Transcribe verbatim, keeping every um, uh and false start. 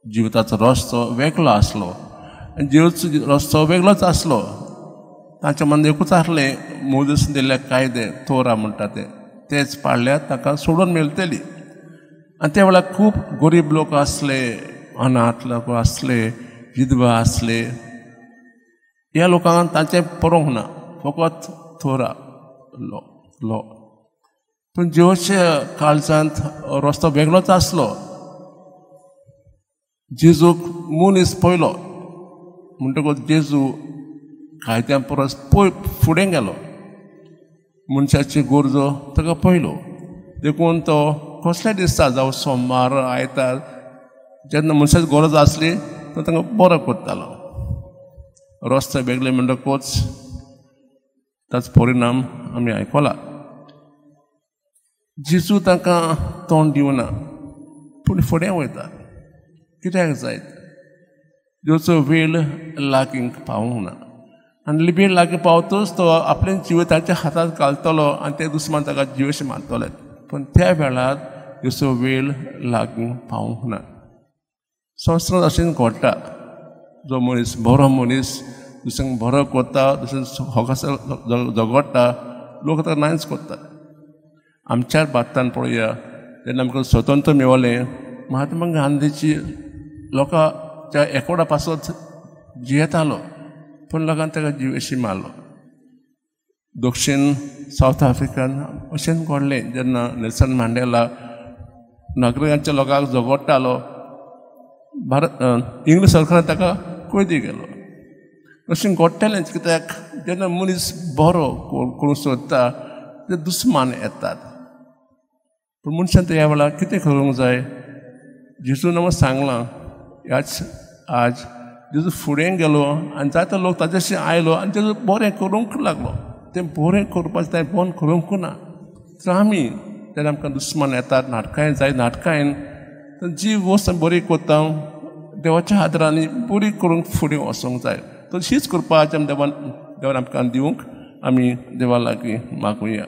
जिविताचो रस्तो वेगळो आसलो आनी जिविताचो रस्तो वेगळोच आसलो. तांच्या मनांत एकूच आसलें, मोजेस दिल्ले कायदे तोरा म्हणटा ते तेच पाळल्यार ताका सोडून मेळटली. आनी त्या वेळार खूब गरीब लोक आसले, अनाथ लोक आसले, विधवा आसले. ह्या लोकांक तांचें पळोवंक ना, फकत तोरा लो लो. पूण जिवच्या काळजांत रस्तो वेगळोच आसलो. जेजूक मनीस पयलो म्हणटकूच जेजू कायद्या परस पय फुडें गेलो. मनशाची गरजो ताका पयलो, देखून तो कसल्या दिसा जावं सोमार आयतार जेन्ना मनशाची गरज आसली तो तांकां बरो करतालो. रस्ते वेगळे म्हणटकूच ताचो परिणाम आमी आयकला. जेजू तांकां तोंड दिवना, पूण फुडें वयता. कित्याक जायत जेजूचो वेळ लागीं पावूंक ना आनी वेळ लागीं पावतूच तो आपलें जिविताच्या हातांत घालतलो आनी ते दुस्मान ताका जिवेशी मारतले. पूण त्या वेळार जेजूचो वेळ लागीं पावूंक ना. संवसारांत अशें घडटा, जो मनीस बरो मनीस दुसऱ्यांक बरो करता, दुसऱ्यांक होगास झगडटा, लोक ताका नायच करतात. आमच्याच भारतान पळोवया, जेन्ना आमकां स्वतंत्र मेळलें, महात्मा गांधीची लोकांच्या एकोडा पासत जियेतालो, पूण लोकान ताका जिवेशी मारलो. दक्षीण सावथ आफ्रिकान अशेंच घडलें, जेन्ना नेल्सन मांडेला नागरिकांच्या लोकांक झगडटालो, भारत इंग्लीश सरकारान ताका कैदी केलो. अशें घडटलेंच, कित्याक जेन्ना मनीस बरो करूंक सोदता ते दुस्मान येतात. पूण मनशान त्या वेळार कितें करूंक जाय? जेजून आमकां सांगलां, ह्याच आज जेजू फुडें गेलो आनी जायतो लोक ताच्याशी आयलो आनी जेजू बरें करूंक लागलो. तें बरें करपाचें तें बंद करूंक ना. तर आमी जेन्ना आमकां दुस्मान येतात, नाटकां जाय नाटकां, तर जी वस्त आमी बरी करता देवाच्या आदारांनी बरी करूंक फुडें वचूंक जाय. तशीच करपाचें आमी देवान देवान आमकां दिवंक आमी देवा लागीं मागुया.